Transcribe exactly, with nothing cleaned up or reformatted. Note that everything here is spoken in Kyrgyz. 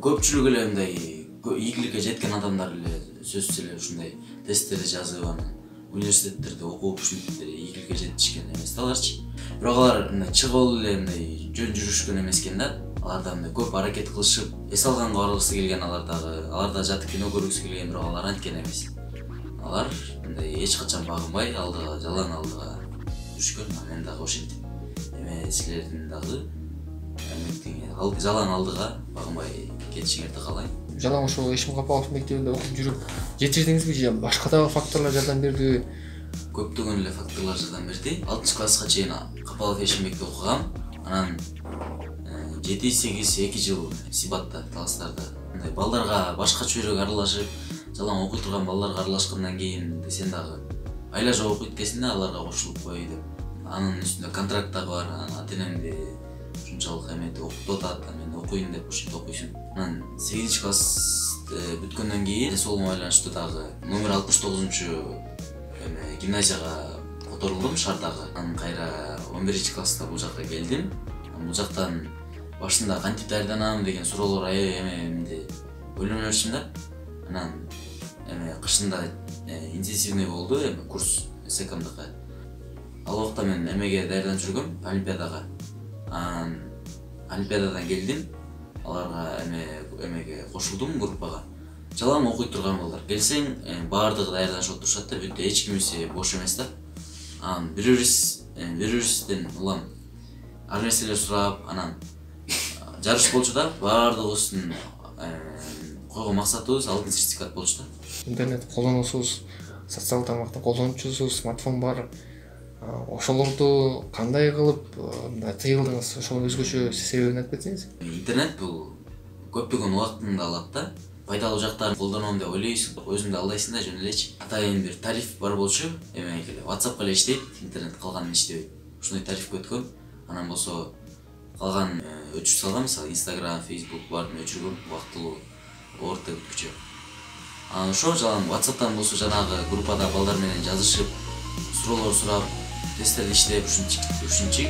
көпчүлүк эле мындай ийгиликке жеткен адамдар эле сөзсүз эле ушундай тесттерди жазып анан университеттерде окуп ушинтип ийгиликке жетишкен эмес да аларчы. Бирок алар мындай чыгып эле мындай жөн жүрүшкөн эмес экен да. Алар да көп аракет кылышып, эс алганга баргысы келген алар дагы, алар да жатып кино көргүсү келген, бирок алар анткен эмес. Алар мындай эч качан багынбай, алдыга, жалаң алдыга жүрүшкөн. Мен дагы ошентип. Эме силердин дагы эмне жалаң алдыга багынбай кетишиңерди каалайм. Жалаң ошо Ишим Капалов мектебинде окуп жүрүп жетиштиңизби же башка дагы факторлор жардам бердиби? Көптөгөн эле факторлор жардам берди. алтынчы класска чейин Капалов Эшимбекте окугам. Анан жети сегиз эки жыл Сибатта, Таластарда. Мындай балдарга башка чөйрөк аралашып, жалаң окуй турган балдарга аралашкандан кийин сен дагы айла жок окуйт экенсиң да, аларга кошулуп кой деп. Анын үстүндө контракт дагы бар. Ата-энемди ушунчалык эметип окутуп атат, мен окуйм деп ушинтип окуйсуң. Анан сегизинчи класс бүткөндөн кийин сол байланыштуу дагы номер алтымыш тогузунчу эме гимназияга которулдум Шардагы. Анан кайра он биринчи класста бул жакка келдим. Бул жактан башында кантип даярданам деген суроолор эме менде ойлоно берчим да. Анан эме кышында интенсивный болду эме курс секомдыкы. Ал убакта мен эмеге даярданып жүргөм, олимпиадага. Анан олимпиададан келдим. Аларга эме эмеге кошулдум группага. Жалаң окуй турган балдар. Келсең, баардыгы даярданышып отурушат да, бүтө эч кимиси бош эмес да. Анан бири-бирибиз, бири-бирибизден улам ар нерселер сурап, анан жарыш болчу да, баардыгыбыздын койгон максатыбыз алтын сертификат болчу да. Интернет колдоносуз, социалдык тармактын колдонуучусуз, смартфон бар. Ошолорду кандай кылып тыйылдыңыз? Ошонун өзгөчө себебин айтып кетсеңиз. Интернет бул көптөгөн убактыңды алат да. Пайдалуу жактарын колдоном деп ойлойсуң, өзүңдү алдайсың да, жөн элечи. Атайын бир тариф бар болчу, эмеге эле WhatsApp эле иштейт, интернет калганы иштебейт. Ушундай тарифке өткөм. Анан болсо калган өчүрүп салгам, мисалы Instagram, Facebook баарын өчүргөм, убактылуу орто бүткүчө. Анан ошо жалаң WhatsApp'тан болсо жанагы группада балдар менен жазышып, суроолор сурап, тесттерди иштеп, ушинчик, ушинчик